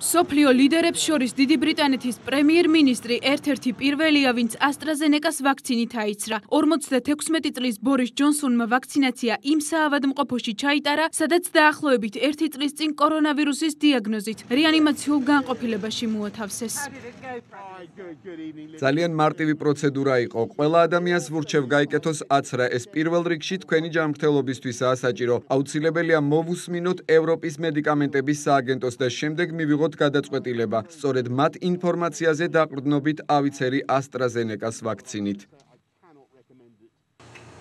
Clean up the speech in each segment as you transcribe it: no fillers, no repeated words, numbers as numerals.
სოფლიო ლიდერებს შორის დიდი ბრიტანეთის პრემიერ-მინისტრი ერთ-ერთი პირველია, ვინც AstraZeneca-ს ვაქცინით აიცრა. 56 წლის ბორის ჯონსონმა ვაქცინაცია იმ საავადმყოფოში ჩაიტარა, სადაც დაახლოებით 1 წლის წინ კორონავირუსის დიაგნოზით რეანიმაციულ განყოფილებაში მოათავსეს. ძალიან მარტივი პროცედურა იყო. ყველა ადამიანს ვურჩევ გაიკეთოს აცრა. ეს პირველ რიგში თქვენი ჯანმრთელობისთვისაა საჭირო. აუცილებელია მოვუსმინოთ ევროპის მედიკამენტების სააგენტოს და შემდეგ მივიღოთ გადაწყვეტილება. სწორედ მათ ინფორმაციაზე დაყრდნობით ავიცერი AstraZeneca-ს ვაქცინით.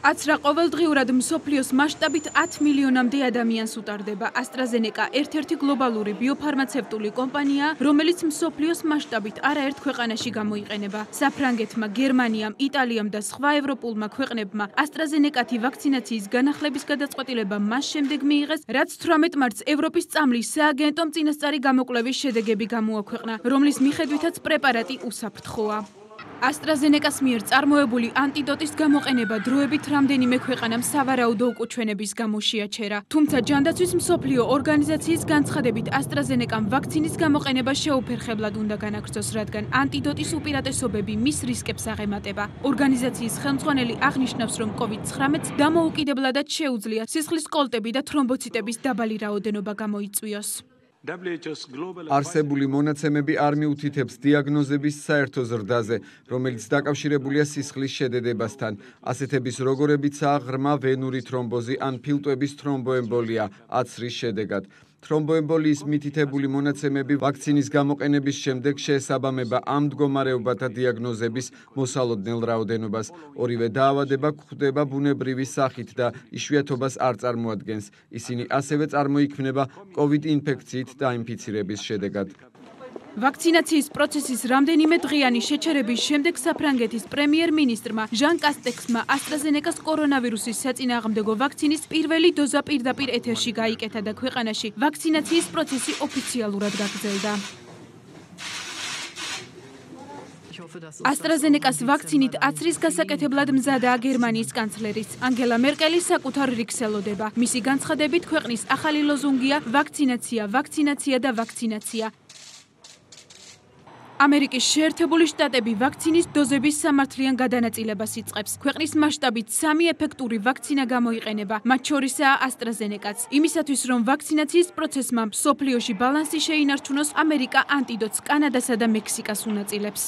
აცრა ყოველდღიურად მსოფლიოს მასშტაბით 10 მილიონამდე ადამიანს უტარდება. AstraZeneca ერთ-ერთი გლობალური ბიოფარმაცევტული კომპანიაა, რომელიც მსოფლიოს მასშტაბით არაერთ ქვეყანაში გამოიყენება. საფრანგეთმა, გერმანიამ, იტალიამ და სხვა ევროპულმა ქვეყნებმა AstraZeneca-თი ვაქცინაციის განახლების გადაწყვეტილება მას შემდეგ მიიღეს, რაც 18 მარტს ევროპის წამლის სააგენტომ წინასწარი გამოკვლევის შედეგები გამოაქვეყნა, რომლის მიხედვითაც პრეპარატი უსაფრთხოა. AstraZeneca-ს მიერ წარმოებული ანტიდოტის გამოყენება დროებით რამდენიმე ქვეყანამ სავარაუდო უკუჩვენების გამო შეაჩერა. თუმცა ჯანდაცვის მსოფლიო ორგანიზაციის განცხადებით AstraZeneca-მ ვაქცინის გამოყენება შეუფერხებლად უნდა განაგრძოს, რადგან ანტიდოტის უპირატესობები მის რისკებს აღემატება. ორგანიზაციის ხელმძღვანელი აღნიშნავს, რომ COVID-19-ს დამოუკიდებლადაც შეუძლია სისხლის კოლტები და თრომბოციტების დაბალი რაოდენობა გამოიწვიოს. არსებული მონაცემები არ მიუთითებს დიაგნოზების საერთო ზრდაზე, რომელიც დაკავშირებულია სისხლის შედედებასთან. ასეთების როგორებიცაა ღრმა ვენური თრომბოზი ან ფილტვების თრომბოემბოლია აცრის შედეგად. თრომბოემბოლიის მითითებული მონაცემები ვაქცინის გამოყენების შემდეგ შეესაბამება ამ მდგომარეობათა დიაგნოზების მოსალოდნელ რაოდენობას. ორივე დაავადება გვხვდება ბუნებრივი სახით და იშვიათობას არ წარმოადგენს. ისინი ასევე წარმოიქმნება COVID ინფექციით დაინფიცირების შედეგად. ვაქცინაციის პროცესის რამდენიმე დღიანი შეჩერების შემდეგ საფრანგეთის პრემიერ-მინისტრმა ჟან კასტექსმა AstraZeneca-ს კორონავირუსის საწინააღმდეგო ვაქცინის პირველი დოზა პირდაპირ ეთერში გაიკეთა და ქვეყანაში ვაქცინაციის პროცესი ოფიციალურად გაგრძელდა. AstraZeneca-ს ვაქცინით აცრის გასაკეთებლად მზადაა გერმანიის კანცლერიც ანგელა მერკელი საკუთარ რიგს ელოდება. მისი განცხადებით ქვეყნის ახალი ლოზუნგია ვაქცინაცია, ვაქცინაცია და ვაქცინაცია. ამერიკის შეერთებული შტატები ვაქცინის დოზების სამართლიან გადანაწილებას იწყებს. ქვეყნის მასშტაბით 3 ეფექტური ვაქცინა გამოიყენება, მათ შორისაა AstraZeneca-ც. იმისათვის, რომ ვაქცინაციის პროცესმა მსოფლიოში ბალანსი შეინარჩუნოს, ამერიკა ანტიდოტს კანადასა და მექსიკას უნაწილებს.